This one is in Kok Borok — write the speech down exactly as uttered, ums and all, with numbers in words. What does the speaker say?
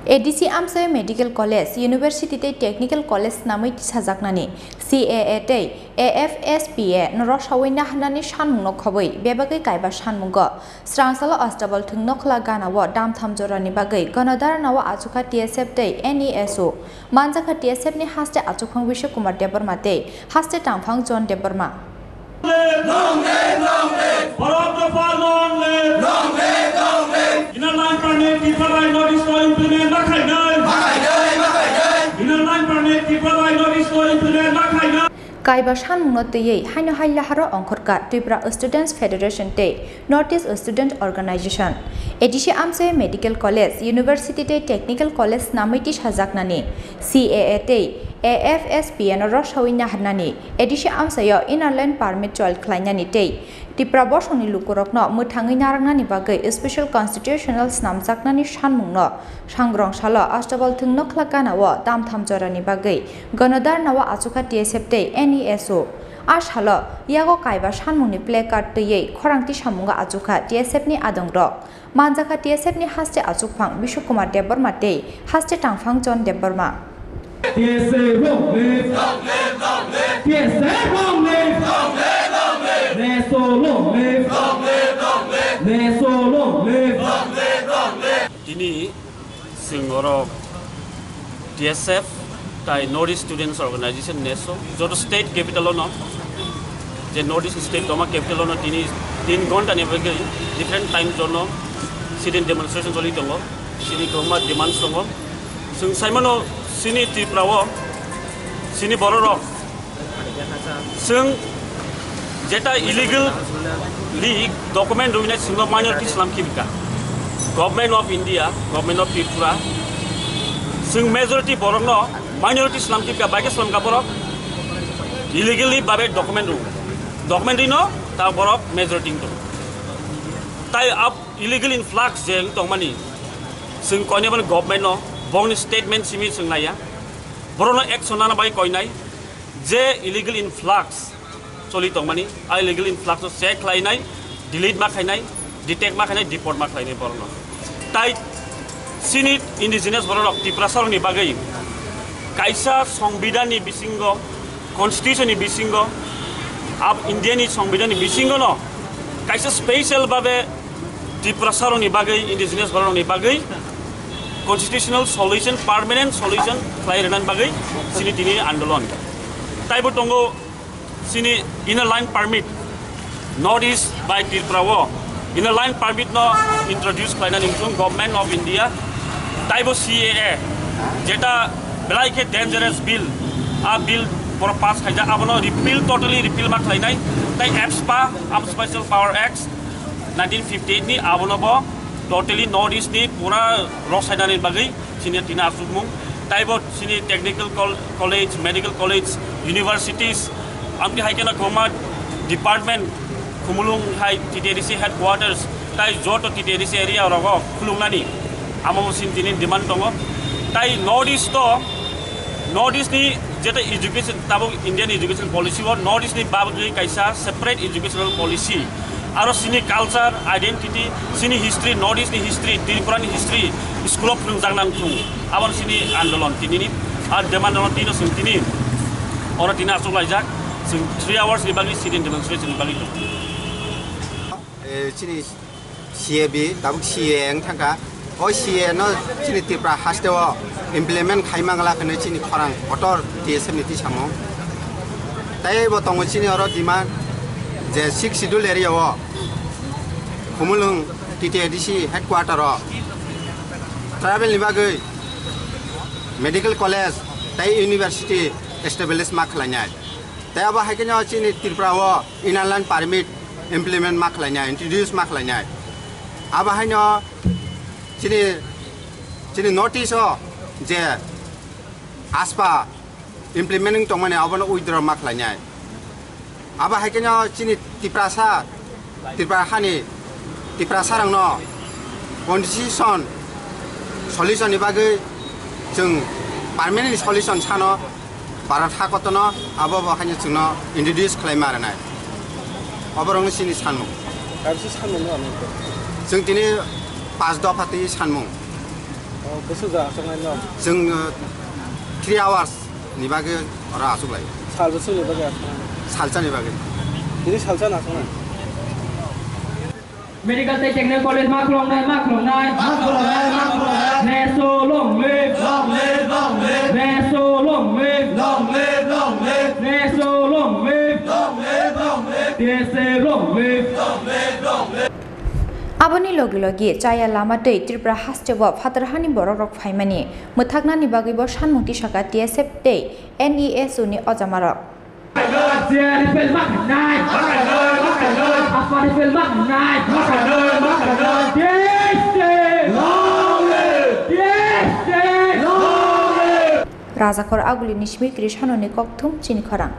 A D C amchai Medical College, University tei Technical College swnamwi tisajaknani C A A tei A F S P A no rosawi naharnani sanmungno khobwi bebagwi kaiba sanmungo srangsalo Astabal thwng nokhla ganao damtham jorani bagwi gonodarnao achukha T S F tei N E S O. Manjakha T S F ni haste achukphang Bishu Kumar Debbarma tei haste tangphang John Debbarma. Long live, long live. Borok Dopha long live. Long live, long live. Inner line permit Tripura bai notice no implement ma khainai. Ma khainai, ma khainai. Inner line permit Tripura bai notice no implement ma khainai. Kaiba sanmungno twiwi haino hailaharo ongkhorkha Tripura Students Federation tei North East Student Organization. A D C amchai Medical College, University tei Technical College swnamwi tisajaknani C A A tei A F S P A no rosawi naharnani A D C amchaio Inner Line Permit chol khlainani tei Tipra bosongni lukurokno mwthangwi narwknani bagwi Special Constitutional snamjaknani sanmungno sangrong salo Astabal thwng nokhla ganao damtham jorani bagwi gonodarnao achukha T S F tei N E S O. A salo yago kaiba sanmungni placard twiwi khorang tisamungo achukha T S F ni adongrok. Manjakha T S F ni haste achukphang Bishu Kumar Debbarma tei haste tangphang John Debbarma. T S F long live. T S F long live. Neso long live. Neso long live. Tini chwng oro T S F tai North East Students Organization neso joto state capital ono, je North East state toma capital ono tini tin ghonta ni bagwi different time zone o sit-in demonstration choli tongo. Chini kwbangma demands tongo. Chwng saimano chini Tripura o chini bororok chwng jeta illegally document rwinai chwngno minority slam khibika. Government of India, Government of Tripura, chwng majority borokno minority slam khibika, bai khe slamka borok illegally babe document rw. Document rino ta borok majority wngtong. Tai ab illegal influx je wng tongmani, chwng koinai boni government no, bongni statement simi chwng naiya, borokno action nana bai koinai, je illegal influx choli tongmani, a illegal influx no check khlainai, delete ma khainai, detect ma khainai, deport ma khlainai borokno. Tai chini indigenous bororok Tiprasa rokni bagwi kaisa songbidan ni bisingo, constitution ni bisingo, ab India ni songbidan ni bisingo no kaisa special babe Tiprasa rokni bagwi, indigenous bororokni bagwi constitutional solution, permanent solution khlai rwnani bagwi chini tini andolon. Taibo tongo chini Inner Line Permit, North East bai Tripura o Inner Line Permit no introduce khlainani wngthung Government of India, taibo C A A, jeta belai khe dangerous bill, a bill borok pass khaijak, abono repeal, totally repeal ma khlainai, tai AFSPA, Armed Special Power Act, nineteen fifty-eight ni, abono bo totally North East ni pura rok sainani bagwi chini tini achukmung. Taibo chini technical col-, college, medical college, universities, amtwi hai kheno kwbangma department, Khumulwng hai T T A D C headquarters, tai joto T T A D C area rogo khulungnani, amo bo chini tini demand tongo. Tai North East to, North East ni jeta education, tabuk Indian education policy o North East ni bagwi kaisa separate educational policy. Aro chini culture, identity, chini history, North East ni history, Tripura ni history, school o phwrwngjak nang thung. Abo chini andolon tini ni, ar demand no tino chwng tini, oro tini achuk laijak, chwng three hours ni bagwi sit-in demonstration ni bagwi tong. Eh, chini C A B, tabuk C A A wng thangkha. O C A A no chini Tripura haste o implement khai mangla hwnwi chini khorang kotor T S F ni tisamung. Tai bo tongo chini oro demand je Sixth Schedule area o Khumulwng T T A D C headquarter o tribal ni bagwi medical college tai university establish ma khlainai. Tai abo hai kheno chini Tripura o Inner Line Permit implement ma khlainai, introduce ma khlainai. Abo haino chini, chini North East o je AFSPA implement wng tongmani abono withdraw ma khlainai. Abo hai kheno chini Tiprasa, Tripura hani Tiprasa rokno constitution solution ni bagwi chwng permanent solution sano Bharat hakotono abo bo haino chwngno introduce khlai ma rwnai. Oborokno chini sanmung. Kaisa sanmung no ano. Chwng tini pas dopha twi sanmung. Bwswk da aswknai no? Chwng, uh, three hours ni bagwi oro aswk lai. Sal bwswk ni bagwi aswknai? Salsa ni bagwi. Tini salsa no aswknai? Medical tei technical college ma khuloknai, ma khuloknai. Ma khuloknai, ma khuloknai. Neso long live. Long live, long live. Neso long live. Long live, long live. Neso long live. Long live, long live. Neso long live. Long live, long live. Aboni logi logi chaya lama twi Tripura hasteo phatar hani borok rok phaimani mwthaknani bagwi bo sanmung tisaka T S F tei N E S U ni ojamarok. Rajakhor Aguli ni Smir Kiri Sanoni Kokthum chini khorang.